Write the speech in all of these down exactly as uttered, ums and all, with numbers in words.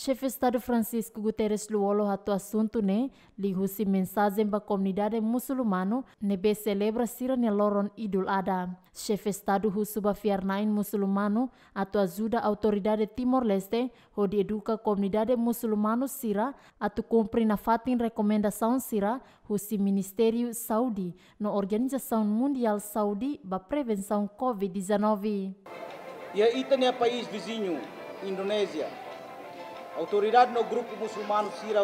Xefe Estadu Francisco Guterres Lú-Olo hato'o asuntu ne'e liuhusi mensajen ba komunidade musulmanu ne'ebé selebra sira-nia loron Idul Adha. Xefe Estadu husu ba fiar-na'in musulmanu atu ajuda autoridade Timor-Leste hodi eduka komunidade musulmanu sira atu kumpre nafatin rekomendasaun sira husi Ministériu Saúde no Organizasaun Mundiál Saúde ba prevensaun covid dezanove. Iha ita-nia país viziñu, Indonézia, autoridade no grupu musulmanu sira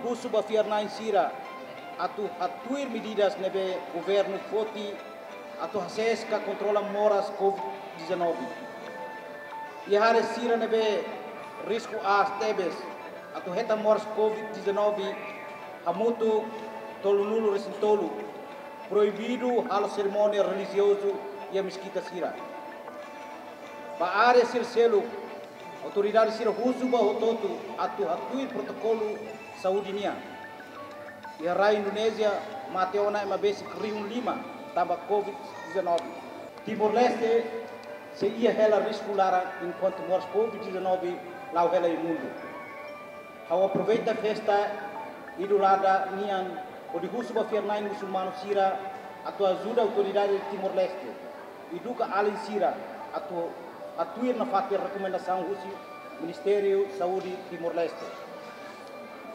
husu ba fiar-na'in sira atu hatuir medidas ne'ebé governu foti atu hasees ka kontrola moras covid dezanove. Iha área sira ne'ebé risku aas tebes atu hetan moras covid dezanove, hamutuk tolunulu-resin-tolu, proibidu halo serimónia relijiozu iha meskita sira. Ba área sira seluk, autoridade sira husu ba hotu-hotu atu hatuir protokolu saúde nian. Iha rai Indonézia, mate ona ema besik rihun lima tanba covid dezanove. Timor-Leste sei iha hela risku laran enkuantu moras covid dezanove la'o hela iha mundu. Ha'u aproveita festa Idul Adha nian hodi husu ba fiar-na'in musulmanu sira atu ajuda autoridade Timor-Leste eduka alin sira atu hatuir nafatin rekomendasaun husi Ministériu Saúde Timor-Leste.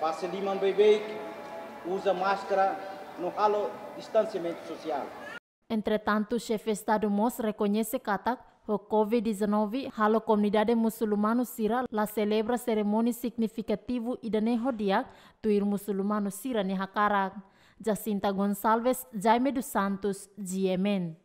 Fase liman beibeik, uza máskara no halo distansiamentu sosiál. Entretantu, Xefe Estadu mós rekoñese katak, ho covid dezanove halo komunidade musulmanu sira la selebra serimónia signifikativu ida-ne'e ho di'ak, tuir musulmanu sira-nia hakarak. Jacinta Gonçalves, Jaime dos Santos, G M N.